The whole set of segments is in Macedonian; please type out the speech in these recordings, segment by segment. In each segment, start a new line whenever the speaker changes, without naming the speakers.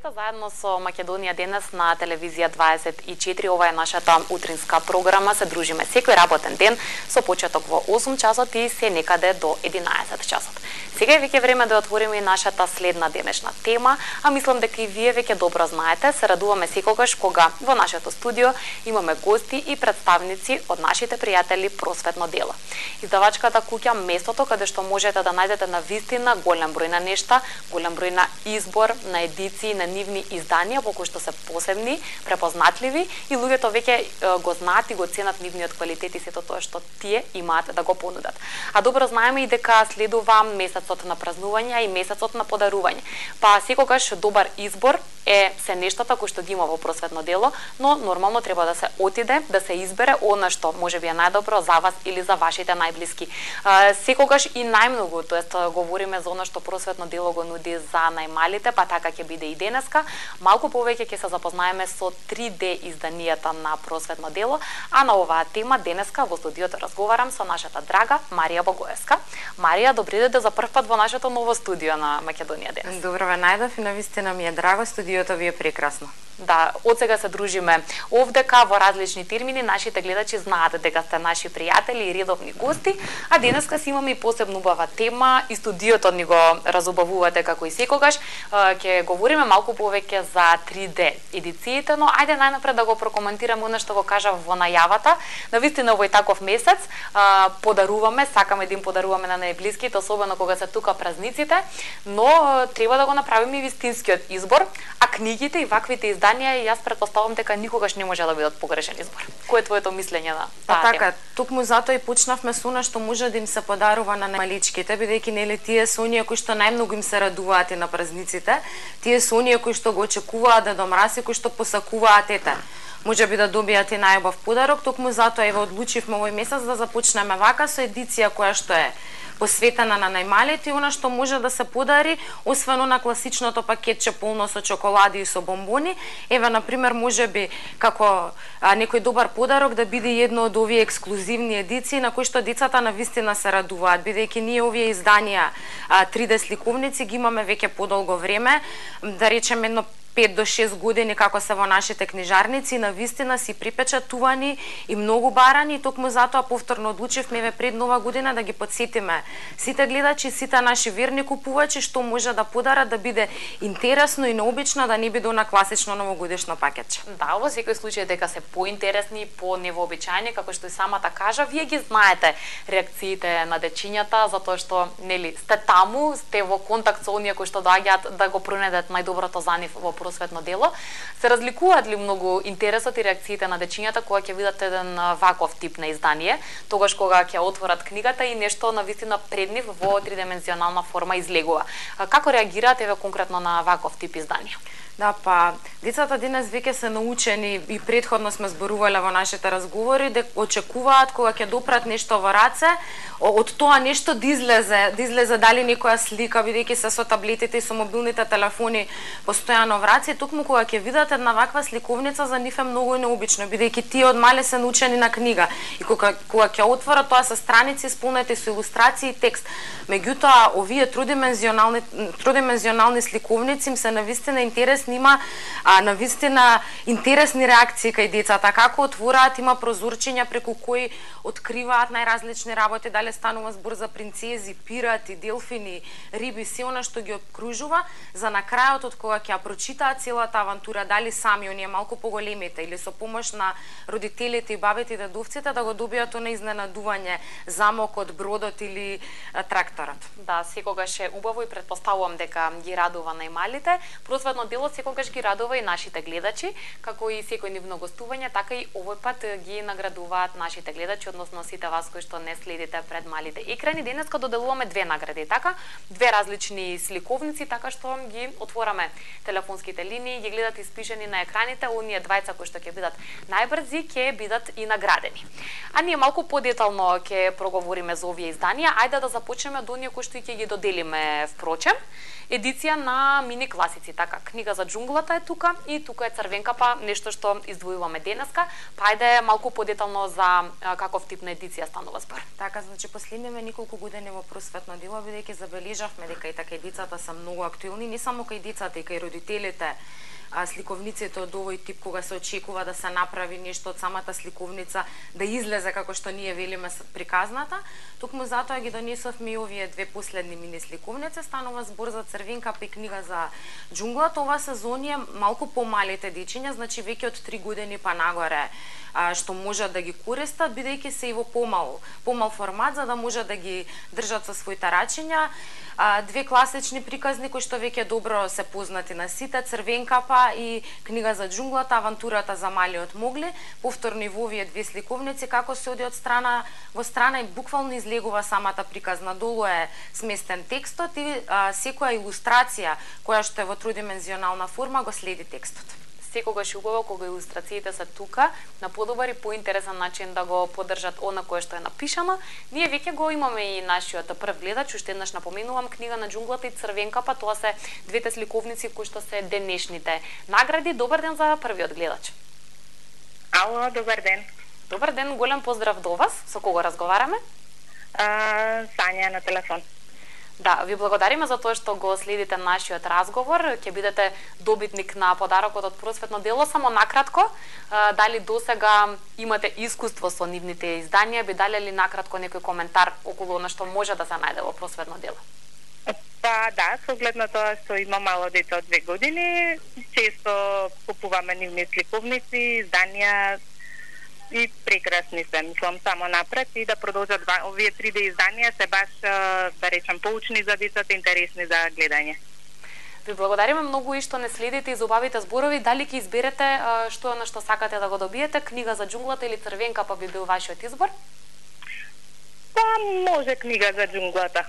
Здравейте, заедно со Македонија денес на телевизија 24. Ова е нашата утринска програма. Се дружиме секој работен ден со почеток во 8 часот и се некаде до 11 часот. Сега е веќе време да отвориме и нашата следна денешна тема, а мислам дека и вие веќе добро знаете. Се радуваме секогаш кога во нашето студио имаме гости и представници од нашите пријатели Просветно дело. Издавачката куќа местото каде што можете да најдете на вистина голем број на нешта, голем број на избор на едиции на нивни изданија по кои што се посебни, препознатливи и луѓето веќе го знаат и го ценат нивниот квалитет и сето тоа што тие имаат да го понудат. А добро знаеме и дека следува месецот на празнување и месецот на подарување. Па секогаш добар избор е се нештата кои што ги има во Просветно дело, но нормално треба да се отиде, да се избере она што можеби е најдобро за вас или за вашите најблиски. Секогаш и најмногу, тоест говориме за она што Просветно дело го нуди за најмалите, па така ќе биде и денеска. Малку повеќе ќе се запознаеме со 3D изданијата на Просветно дело, а на оваа тема денеска во студиото разговарам со нашата драга Марија Богоевска. Марија, добри дојде за прв пат во нашето ново студио на Македонија денес.
Добро ве најдов и навистина ми е драго, студиото ви е прекрасно.
Да, од сега се дружиме овдека во различни термини, нашите гледачи знаат дека сте наши пријатели и редовни гости, а денеска си имаме и посебно убава тема и студиото ни го разубавувате како и секогаш. Ќе говориме малку повеќе за 3D едициите, но ајде најнапред да го прокоментираме она што го кажав во најавата. Навистина овој таков месец подаруваме, сакаме да им подаруваме на најблиските, особено кога се тука празниците, но треба да го направиме и вистинскиот избор, а книгите и ваквите изданија и јас претпоставувам дека никогаш не може да бидат погрешен избор. Кој е твоето мислење на таа тема?
Така, токму затоа и почнавме со она што може да им се подарува на најмаличките, бидејќи нели тие се оние кои што најмногу им се радуваат и на празниците, тие се оние кои што го очекуваат Дедо Мраз и кои што посакуваат ете. Може би да добијат и најубав подарок, токму затоа ево одлучивме овој месец да започнеме вака со едиција која што е посветена на најмалите и она што може да се подари, освен на класичното пакетче полно со чоколади и со бомбони. Еве, например, може би како некој добар подарок да биде едно од овие ексклузивни едиции на кои што децата навистина се радуваат, бидејќи ние овие изданија 3D сликовници ги имаме веќе подолго време, да речеме едно 5 до 6 години како се во нашите книжарници, навистина си припечатувани и многу барани, токму затоа повторно одлучивме еве пред нова година да ги потсетиме сите гледачи, сите наши верни купувачи што може да подарат да биде интересно и необично, да не биде на класично новогодишно пакетче.
Да, во секој случај дека се поинтересни, по-невообичаени, како што и самата кажа, вие ги знаете реакциите на дечињата, затоа што нели сте таму, сте во контакт со оние кои што доаѓаат да го пронедат најдоброто за нив во Просветно дело. Се разликуваат ли многу интересот и реакциите на дечињата кога ќе видат еден ваков тип на издание, тогаш кога ќе отворат книгата и нешто навистина пред нив во тридимензионална форма излегува? Како реагираат еве конкретно на ваков тип изданија?
Да, па, децата денес веќе се научени и претходно сме зборувале во нашите разговори дека очекуваат кога ќе допрат нешто во раце, од тоа нешто да излезе дали некоја слика, бидејќи се со таблетите и со мобилните телефони постојано во раце, токму кога ќе видат една ваква сликовница за нив е многу необично, бидејќи тие од мале се научени на книга и кога ќе отворат тоа се страници исполнети со илустрации и текст. Меѓутоа, овие тридимензионални сликовници им се навистина интересни, има навистина интересни реакции кај децата, како отвораат, има прозорчиња преку кои откриваат најразлични работи, дали станува збор за принцези, пирати, делфини, риби, се она што ги окружува, за на крајот од кога ќе ја прочитаат целата авантура, дали сами оние малку поголемите или со помош на родителите и бабите и дедовците да го добијат она изненадување, замокот, бродот или тракторот.
Да, секогаш е убаво и претпоставувам дека ги радува најмалите. Просветно дело секогаш ги радува и нашите гледачи, како и секој нивно гостување, така и овој пат ги наградуваат нашите гледачи, односно сите вас кои што не следите пред малите екрани. Денеска доделуваме две награди, така, две различни сликовници, така што ги отвораме телефонските линии, ги гледат испишени на екраните, оние двајца кои што ќе бидат најбрзи ќе бидат и наградени. А ние малку подетално ќе проговориме за овие изданија. Ајде да започнеме од оние кои што ќе ги доделиме впрочем. Едиција на мини класици, така, книга за џунглата е тука и тука е Црвенка, па нешто што издвојуваме денеска. Па ајде малку подетално за каков тип на едиција станува збор.
Така, значи последниве неколку години во Просветно дело, бидејќи забележавме дека и така и децата се многу актуелни, не само кај децата, и кај родителите, самите сликовниците од овој тип, кога се очекува да се направи нешто од самата сликовница, да излезе како што ние велиме приказната. Токму затоа ги донесовме и овие две последни мини сликовници. Станува збор за Црвенкапа и книга за џунглата. Ова сезонија малку помалите дечиња, значи веќе од 3 години па нагоре, што можат да ги користат, бидејќи се и во помал формат, за да можат да ги држат со своите рачиња. Две класични приказни кои што веќе добро се познати на сите, Црвенкапа и книга за џунглата, авантурата за малиот Могли. Повторно и во овие две сликовници, како се оди од страна во страна и буквално излегува самата приказна. Долу е сместен текстот и секоја илустрација која што е во тридимензионална форма го следи текстот.
Секогаш убаво кога илустрациите се тука на подобар и поинтересен начин да го поддржат она кое што е напишано. Ние веќе го имаме и нашиот прв гледач, уште еднаш напоменувам, книга на џунглата и Црвенкапа, тоа се двете сликовници кои што се денешните награди. Добар ден за првиот гледач.
Ало, добар ден.
Добар ден, голем поздрав до вас. Со кого разговараме?
Сања на телефон.
Да, ви благодариме за тоа што го следите нашиот разговор. Ќе бидете добитник на подарокот од просветно дело. Само накратко, дали досега имате искуство со нивните изданија, би дали ли накратко некој коментар околу она што може да се најде во просветно дело?
Па да, со оглед на тоа што има мало дете од 2 години, често купуваме нивни сликовници, изданија и прекрасни се, мислам, само напред и да продолжат овие 3D изданија се баш, да речем, поучни за децата, интересни за гледање.
Ви благодариме многу и што не следите и зубавите зборови. Дали ќе изберете што е на што сакате да го добиете, книга за џунглата или Црвенкапа би бил вашиот избор?
Па може книга за џунглата.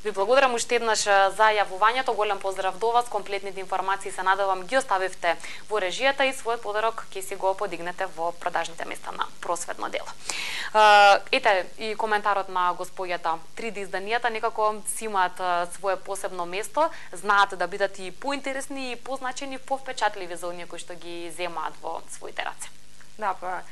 Ви благодарам уште еднаш за јавувањето. Голем поздрав до вас. Комплетните информации се надевам ги оставивте во режијата и својот подарок ќе си го подигнете во продажните места на просветно дело. Ете и коментарот на господјата. 3D изданијата некако си имаат свое посебно место, знаат да бидат и поинтересни и позначени, повпечатливи за оние кои што ги земаат во своите раце.
Да, па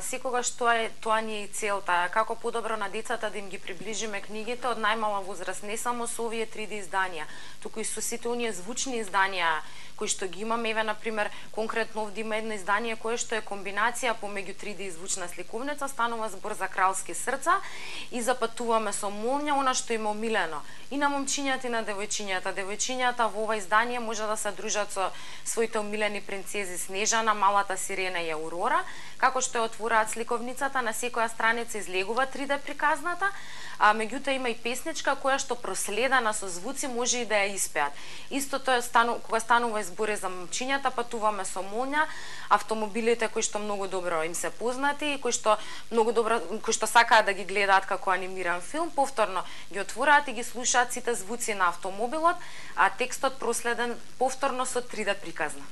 секогаш тоа ни е и целта, како подобро на децата да им ги приближиме книгите од најмала возраст, не само со овие 3D изданија, туку и со сите оние звучни изданија кои што ги имаме. Еве, например, конкретно овде има едно издание кое што е комбинација помеѓу 3D и звучна сликовница, станува збор за Кралски срца и запатуваме со молња, она што им е омилено и на момчињата и на девојчињата. Девојчињата во ова издание може да се дружат со своите омилени принцези Снежана, Малата сирена и Аурора. Како што отвораат сликовницата, на секоја страница излегува 3D приказната, а меѓутоа има и песничка која што проследена со звуци може и да ја испеат. Истото е кога станува збори за момчињата, патуваме со молња, автомобилите кои што многу добро им се познати и кои што сакаат да ги гледаат како анимиран филм, повторно ги отвораат и ги слушаат сите звуци на автомобилот, а текстот проследен повторно со 3D приказна.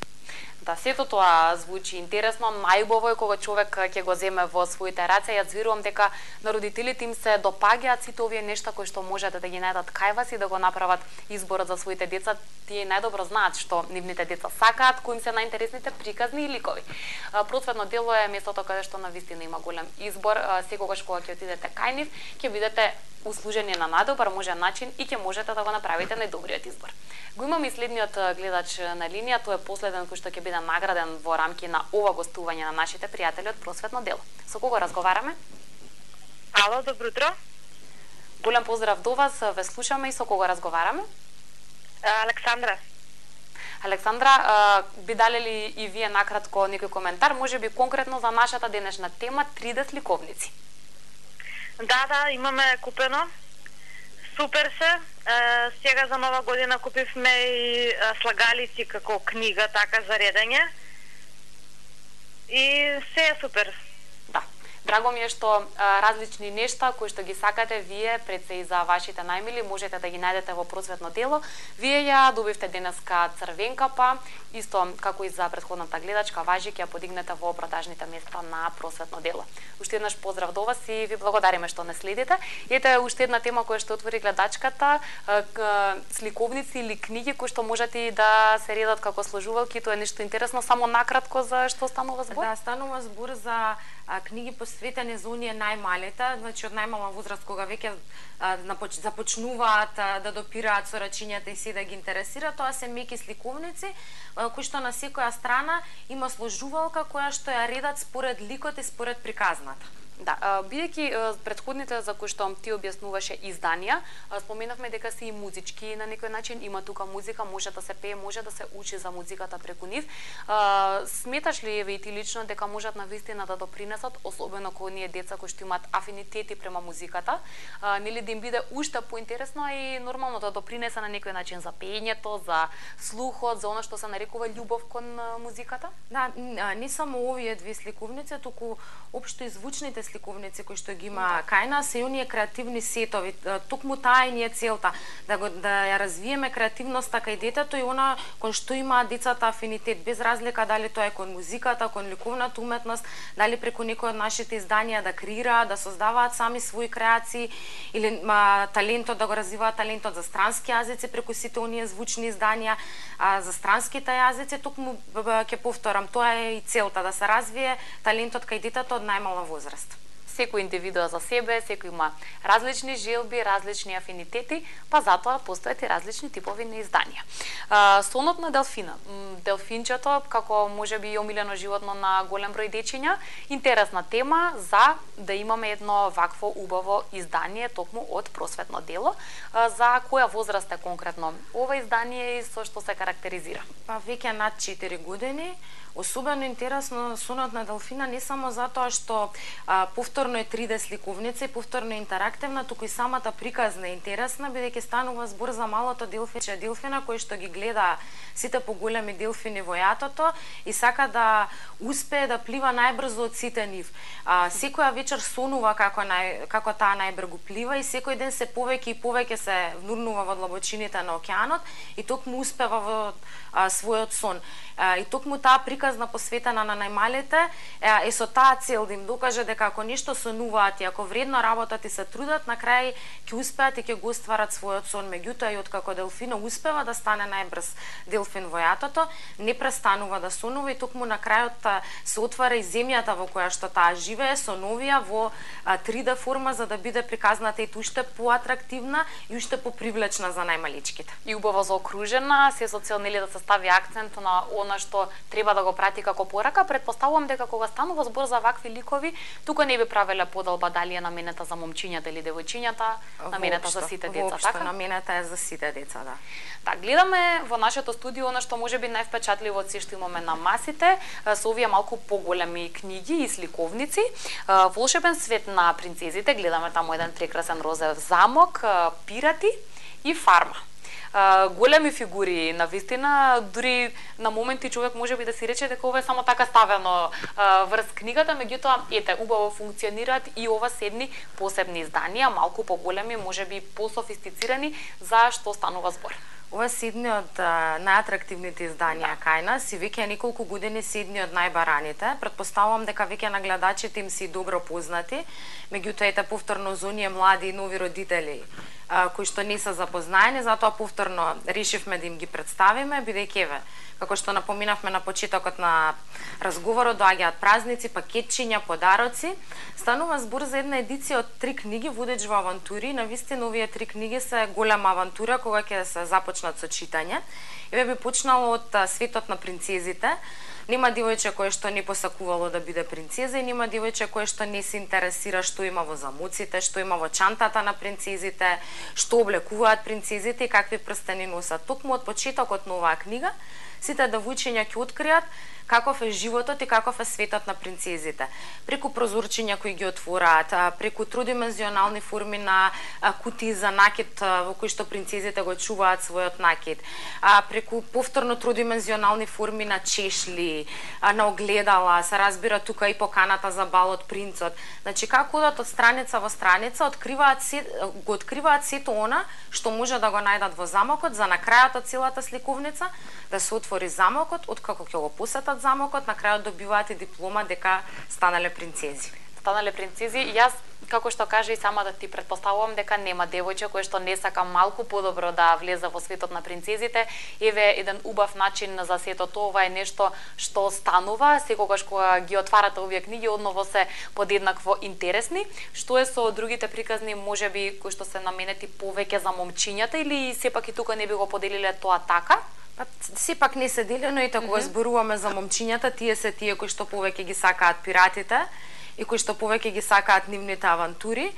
Да, сето тоа звучи интересно, најубаво е кога човек ќе го земе во своите раце. Јас верувам дека на родителите им се допаѓаат сите овие нешта кои што можете да ги најдат кај вас и да го направат изборот за своите деца. Тие најдобро знаат што нивните деца сакаат, кои им се најинтересните приказни и ликови. Просветно дело е местото каде што навистина има голем избор. Секогаш кога ќе отидете кај нив, ќе бидете услужени на најдобар можен начин и ќе можете да го направите најдобриот избор. Го имаме и следниот гледач на линија, тој е последен кој што ќе биде награден во рамки на ова гостување на нашите пријатели од Просветно дело. Со кого разговараме?
Ало, добро утро.
Голем поздрав до вас, ве слушаме и со кого разговараме?
Александра.
Александра, би дали ли и вие накратко некој коментар, можеби конкретно за нашата денешна тема 3D сликовници?
Да, имаме купено. Супер се. Сега за нова година купивме и слагалици како книга, така за редење. И се е супер.
Да. Драго ми е што различни нешта кои што ги сакате вие, пред се и за вашите најмили, можете да ги најдете во Просветно дело. Вие ја добивте денеска Црвенкапа, исто како и за претходната гледачка, важи ќе ја подигнете во продажните места на Просветно дело. уште еднаш поздрав до вас и ви благодариме што не следите. Ете уште една тема која што отвори гледачката, сликовници или книги кои што можат и да се редат како сложувалки, тоа е нешто интересно, само накратко за што станува збор?
Да, станува збор за книги посветени за оние најмалите, значи од најмала возраст кога веќе започнуваат да допираат со рачињата и се да ги интересира, тоа се меки сликовници кои што на секоја страна има сложувалка која што ја редат според ликот и според приказната.
Да, бидејќи претходните за кои што ти објаснуваше изданија, споменавме дека се и музички на некој начин, има тука музика, може да се пее, може да се учи за музиката преку нив. Сметаш ли еве и ти лично дека можат навистина да допринесат, особено кога оние деца кои што имаат афинитети према музиката, нели да им биде уште поинтересно и нормално да допринесе на некој начин за пеењето, за слухот, за она што се нарекува љубов кон музиката?
Да, не само овие две сликовници, туку општо и звучните сликовници кои што ги има кај нас и оние креативни сетови. Токму таа е ни е целта, да ја развиеме креативноста кај детето и она кон што имаат децата афинитет, без разлика дали тоа е кон музиката, кон ликовната уметност, дали преку некој од нашите изданија да креираат, да создаваат сами своји креации или талентот, да го развиваат талентот за странски јазици преку сите оние звучни изданија, за странските јазици, токму ќе повторам, тоа е и целта, да се развие талентот кај детето од најмала возраст.
Секој индивидуа за себе, секој има различни желби, различни афинитети, па затоа постојат и различни типови на изданија. Сонот на Делфина. Делфинчето, како можеби и омилено животно на голем број дечиња, интересна тема за да имаме едно вакво убаво издание токму од просветно дело. За која возраст е конкретно ова издание и со што се карактеризира?
Па веќе над 4 години. Особено интересно Сонот на Делфина не само затоа што повторно е 3D сликовница и повторно е интерактивна, туку и самата приказна е интересна, бидејќи станува збор за малото делфинче делфина кој што ги гледа сите поголеми делфини во јатото и сака да успее да плива најбрзо од сите нив. Секоја вечер сонува како таа најбрзо плива и секој ден се повеќе и повеќе се внурнува во длабочините на океанот и токму успева во својот сон. И токму таа приказна посветена на најмалите е со таа цел да им докаже дека ако нешто сонуваат и ако вредно работат и се трудат, на крај ќе успеат и ќе го остварат својот сон. Меѓутоа и откако Делфина успева да стане најбрз делфин во јатото, не престанува да сонува и токму на крајот се отвара и земјата во која што таа живее со новија во 3D форма за да биде приказната и уште поатрактивна и уште попривлечна за најмаличките.
И убаво заокружена, се со цел нели да се стави акцент на она што треба да го прати како порака. Предпоставувам дека кога станува збор за вакви ликови, тука не би правеле подолба дали е наменета за момчињата или девојчињата, наменета за сите деца, така?
Наменета е за сите деца, да.
Да, гледаме во нашето студио она што можеби највпечатливо од се што имаме на масите, со овие малку поголеми книги и сликовници. Волшебен свет на принцезите, гледаме таму еден прекрасен розев замок, пирати и фарма. Големи фигури, навистина, дури на моменти човек можеби да си рече дека ова е само така ставено врз книгата, меѓутоа ете убаво функционираат и ова седни посебни изданија, малку поголеми, можеби пософистицирани, за што станува збор.
Ова седни од најатрактивните изданија кај нас и веќе неколку години седни од најбараните. Претпоставувам дека веќе на гледачите им си добро познати, меѓутоа ете повторно за оние млади и нови родители кои што не се запознаени, затоа повторно решивме да им ги представиме, бидејќи еве, како што напоминавме на почетокот на разговорот, доаѓаат празници, пакетчиња, подароци. Станува збор за една едиција од 3 книги Водеч во авантури. Навистина овие 3 книги се голема авантура кога ќе се започнат со читање. Еве би почнало од светот на принцезите. Нема девојче кое што не посакувало да биде принцеза и нема девојче кое што не се интересира што има во замуците, што има во чантата на принцезите, што облекуваат принцезите и какви прстени носат. Токму од почетокот на оваа книга сите девојчиња ќе откријат каков е животот и каков е светот на принцезите. Преку прозорчиња кои ги отвораат, преку тридимензионални форми на кутии за накид во кои што принцезите го чуваат својот накид, преку повторно тридимензионални форми на чешли, на огледала, се разбира тука и поканата за бал од принцот. Значи како одат од страница во страница, го откриваат сето она што може да го најдат во замокот, за на крајот од целата сликовница да се отвори замокот, откако ќе го посетат замокот, на крајот добиваат и диплома дека станале принцези.
станале принцези. Јас, како што кажа и сама да ти предпоставувам дека нема девојче кој што не сака малку подобро да влезе во светот на принцезите. Еве еден убав начин за сето тоа, ова е нешто што станува секогаш кога ги отварате овие книги, одново се подеднакво интересни. Што е со другите приказни, можеби кои што се наменети повеќе за момчињата, или сепак и тука не би го поделиле тоа така?
Сепак не се делено и кога зборуваме за момчињата, тие се тие кои што повеќе ги сакаат пиратите и кои што повеќе ги сакаат нивните авантури.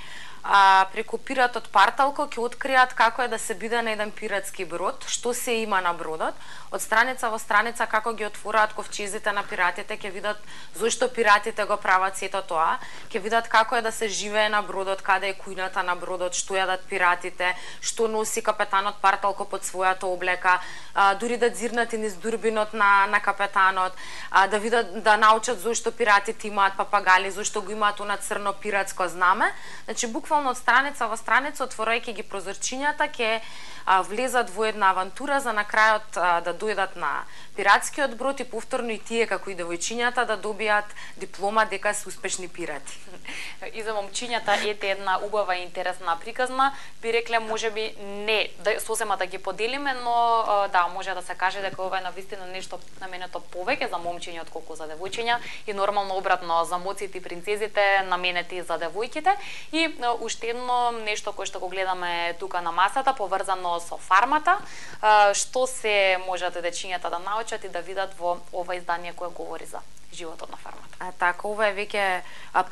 Преку пиратот Парталко ќе откријат како е да се биде на еден пиратски брод, што се има на бродот. Од страница во страница како ги отвораат ковчезите на пиратите, ќе видат зошто пиратите го прават сето тоа, ќе видат како е да се живее на бродот, каде е кујната на бродот, што јадат пиратите, што носи капетанот Парталко под својата облека, дури да дзирнат и низ дурбинот на капетанот, да видат, да научат зошто пиратите имаат папагали, зошто го имаат она црно пиратско знаме. Значи буквално од страница во страница, отворајќи ги прозорчињата, ќе влезат во една авантура за на крајот да дојдат на пиратскиот брод и повторно и тие како и девојчињата да добијат диплома дека се успешни пирати.
И за момчињата ете една убава и интересна приказна. Би рекле можеби не сосема да ги поделиме, но да, може да се каже дека ова е навистина нешто наменето повеќе за момчиња отколку за девојчиња и нормално обратно за моците и принцезите наменети за девојките. И уште едно нешто кое што го гледаме тука на масата поврзано со фармата, што се можат дечињата да научат и да видат во ова издание кое говори за животот на фармата.
Така, ова е веќе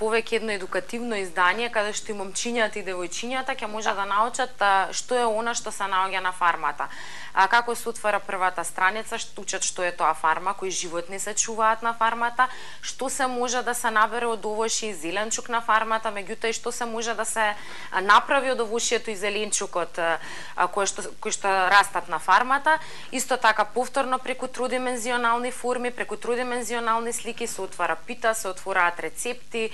повеќе едно едукативно издание каде што и момчињата и девојчињата ќе може да научат што е она што се наоѓа на фармата. Како се отвара првата страница, учат што е тоа фарма, кои животни се чуваат на фармата, што се може да се набере од овошје и зеленчук на фармата, меѓутоа и што се може да се направи од овошјето и зеленчукот кои што растат на фармата. Исто така повторно преку тридимензионални форми, преку тридимензионални слики се отвара пита, се отвораат рецепти,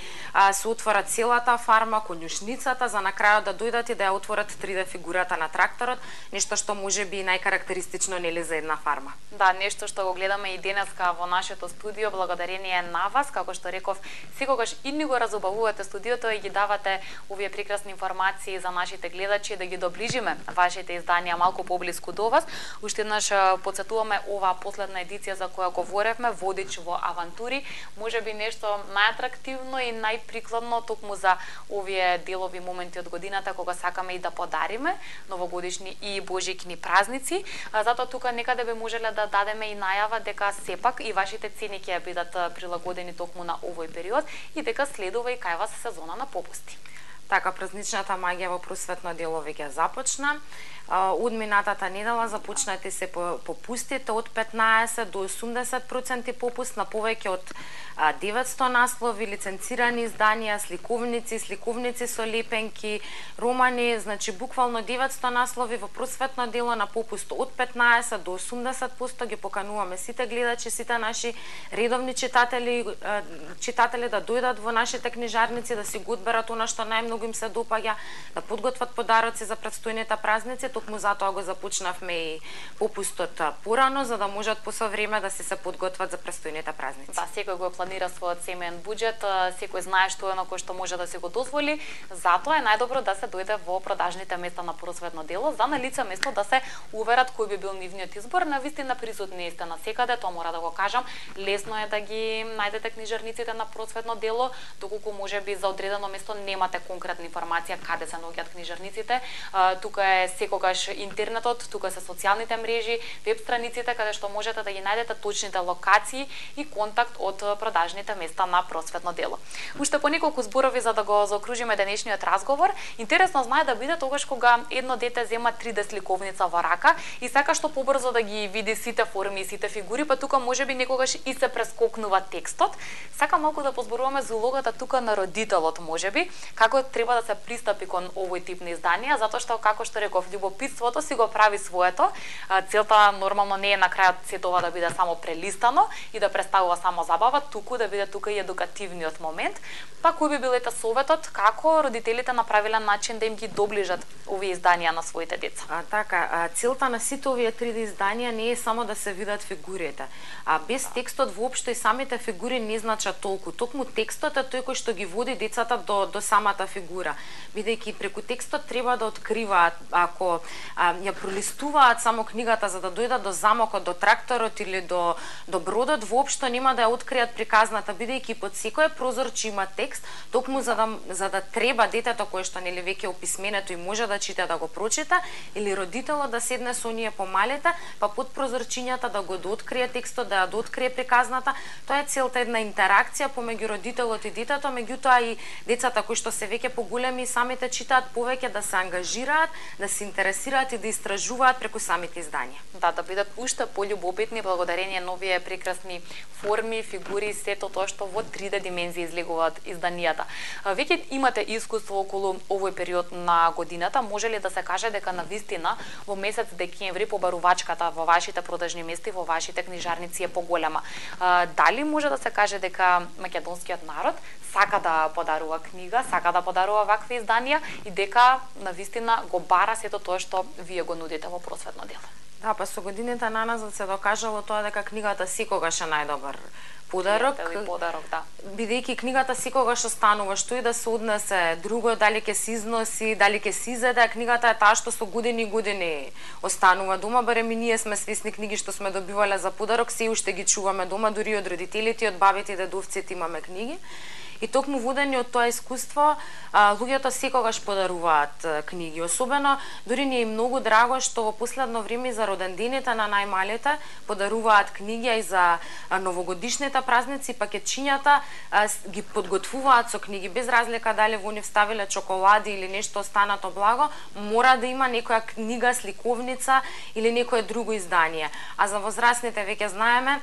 се отвара целата фарма, конјушницата, за на крајот да дојдат и да ја отворат 3D фигурата на тракторот, нешто што можеби најкарактеристично нели за една фарма.
Да, нешто што го гледаме и денеска во нашето студио, благодарение на вас, како што реков, секогаш и ни го разубавувате студиото и ги давате овие прекрасни информации за нашите гледачи, да ги доближиме вашите изданија малку поблиску до вас. Уште еднаш потсетуваме ова последна едиција за која говоревме, Водич во авантури, можеби нешто најатрактивно и најприкладно токму за овие делови моменти од годината кога сакаме и да подариме новогодишни и божикни празници. Затоа тука некаде би можеле да дадеме и најава дека сепак и вашите цени ќе бидат прилагодени токму на овој период и дека следува и кај вас сезона на попусти.
Така, празничната магија во просветно дело веќе започна. Од минатата недела започнати се попустите од 15 до 80% попуст на повеќе од 900 наслови, лиценцирани изданија, сликовници со лепенки, романи, значи буквално 900 наслови во просветно дело на попуст од 15 до 80%. Ги покануваме сите гледачи, сите наши редовни читатели да дојдат во нашите книжарници, да си го одберат она што најмногу им се допаѓа, да подготват подароци за претстојните празници. Токму затоа го започнавме и попустот порано, за да можат по со време да се подготват за претстојните празници.
Да, секој го планира својот семеен буџет, секој знае што е на кој што може да се го дозволи, затоа е најдобро да се дојде во продажните места на просветно дело, за на лице место да се уверат кој би бил нивниот избор. Навистина присутни сте насекаде, тоа мора да го кажам. Лесно е да ги најдете книжарниците на просветно дело, доколку можеби за одредено место немате конкретна информација каде се наоѓаат книжарниците. Тука е секогаш интернетот, тука се социјалните мрежи, веб страниците каде што можете да ги најдете точните локации и контакт од продажните места на просветно дело. Уште по неколку зборови за да го заокружиме денешниот разговор. Интересно знае да биде тогаш кога едно дете зема 3D сликовница во рака и сака што побрзо да ги види сите форми и сите фигури, па тука можеби некогаш и се прескокнува текстот. Сака малку да позборуваме за улогата тука на родителот, можеби, како треба да се пристапи кон овој тип на изданија, затоа што како што реков, љубопитството си го прави своето. Целта нормално не е на крајот сето ова да биде само прелистано и да представува само забава, туку внуку да биде тука и едукативниот момент. Па кој би бил советот како родителите направиле начин да им ги доближат овие изданија на своите деца?
Целта на сите овие 3D изданија не е само да се видат фигурите. Без текстот воопшто и самите фигури не значат толку. Токму текстот е тој кој што ги води децата до самата фигура. Бидејќи преку текстот треба да откриваат, ако ја пролистуваат само книгата за да дојдат до замокот, до тракторот или до бродот, воопшто нема да ја откријат приказната, бидејќи под секое прозорче има текст, токму за да треба детето кое што нели веќе описменето и може да чита да го прочита, или родителот да седне со оние помалите, па под прозорчињата да го дооткрие текстот, да ја дооткрие приказната. Тоа е целта, една интеракција помеѓу родителот и детето, меѓутоа и децата кои што се веќе поголеми самите читаат повеќе, да се ангажираат, да се интересираат и да истражуваат преку самите изданија.
Да бидат уште пољубопитни благодарение на овие прекрасни форми, фигури, сето тоа што во 3D димензија излегуваат изданијата. Веќе имате искуство околу овој период на годината, може ли да се каже дека навистина во месец декември побарувачката во вашите продажни места и во вашите книжарници е поголема? Дали може да се каже дека македонскиот народ сака да подарува книга, сака да подарува вакви изданија и дека навистина го бара сето тоа што вие го нудите во просветно дело?
Да, па со годините на нас се докажало тоа дека книгата секогаш е најдобар подарок,
да.
Бидејќи книгата секогаш останува, што и да се однесе друго, дали ќе се износи, дали ќе се изеде, книгата е таа што со години и години останува дома, барем и ние сме свесни книги што сме добивале за подарок, се уште ги чуваме дома, дури од родителите, од бабите и дедовците имаме книги. И токму водени од тоа искуство, луѓето секогаш подаруваат книги. Особено, дури ни е многу драго што во последно време за родендените на најмалите подаруваат книги и за новогодишните празници, пакетчињата ги подготвуваат со книги, без разлика дали во нив ставиле чоколади или нешто останато благо, мора да има некоја книга, сликовница или некое друго издание. А за возрастните веќе знаеме,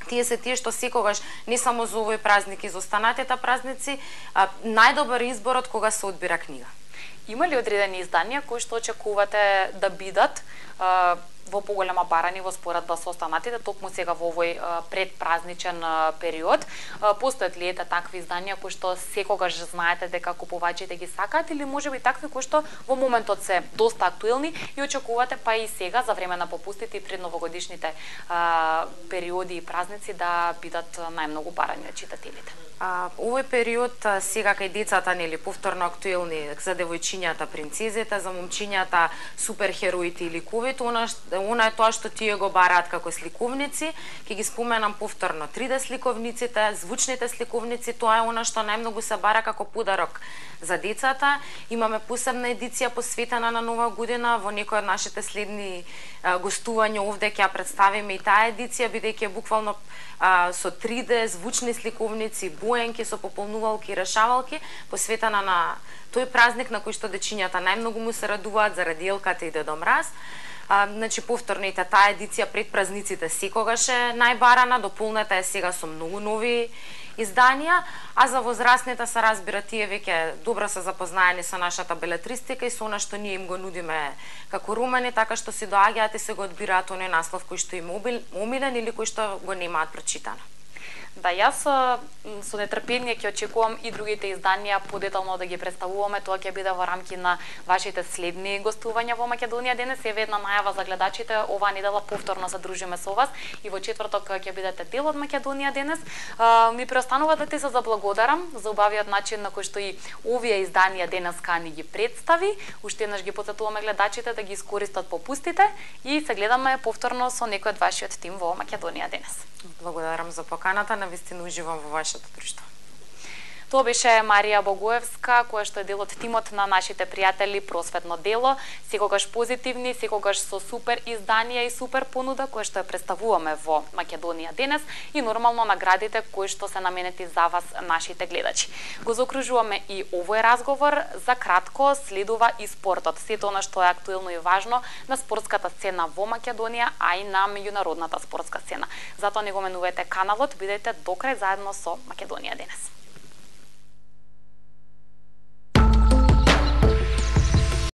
тие се тие што секогаш, не само за овој празник и за останатите празници, најдобар изборот кога се одбира книга.
Има ли одредени изданија кои што очекувате да бидат во поголема барани во споредба со останатите токму сега во овој предпразничен период? Постојат ли такви изданија кои што секогаш знаете дека купувачите ги сакаат или можеби такви кои што во моментот се доста актуелни и очекувате па и сега за време на попустите и пред новогодишните периоди и празници да бидат најмногу барани од читателите?
Овој период сега кај децата нели повторно актуелни за девојчињата принцезите, за момчињата суперхероите и ликовите, она е тоа што тие го бараат како сликовници. Ќе ги споменам повторно 3D сликовниците, звучните сликовници, тоа е она што најмногу се бара како подарок за децата. Имаме посебна едиција посветена на Нова година, во некој од нашите следни гостувања овде ќе ја представиме и таа едиција, бидејќи буквално со 3D звучни сликовници, боенки со пополнувалки и решавалки, посветена на тој празник на кој што дечињата најмногу му се радуваат заради елката и Дедо Мраз. Значи повторно и таа едиција пред празниците секогаш е најбарана, дополнета е сега со многу нови изданија, а за возрастните се разбира тие веќе добро се запознаени со нашата белетристика и со она што ние им го нудиме како романи, така што си доаѓаат и се го одбираат оној наслов кој што им омилен или кој што го немаат прочитано.
Да, јас со нетрпение ќе очекувам и другите изданија подетално да ги представуваме. Тоа ќе биде во рамки на вашите следни гостувања во Македонија денес. Еве една најава за гледачите, оваа недела повторно се дружиме со вас и во четврток ќе бидете дел од Македонија денес. Ми преостанува да ти се заблагодарам за убавиот начин на кој што и овие изданија денеска ни ги представи. Уште еднаш ги потсетуваме гледачите да ги искористат попустите и се гледаме повторно со некој од вашиот тим во Македонија денес.
Благодарам за поканата, навистина уживам во вашето друштво.
Тоа беше Марија Богоевска, која што е дел од тимот на нашите пријатели Просветно дело, секогаш позитивни, секогаш со супер изданија и супер понуда која што ја представуваме во Македонија денес и нормално наградите кои што се наменети за вас нашите гледачи. Го заокружуваме и овој разговор, за кратко следува и спортот, сето она што е актуелно и важно на спортската сцена во Македонија, а и на меѓународната спортска сцена. Затоа не го менувајте каналот, бидете до крај заедно со Македонија денес.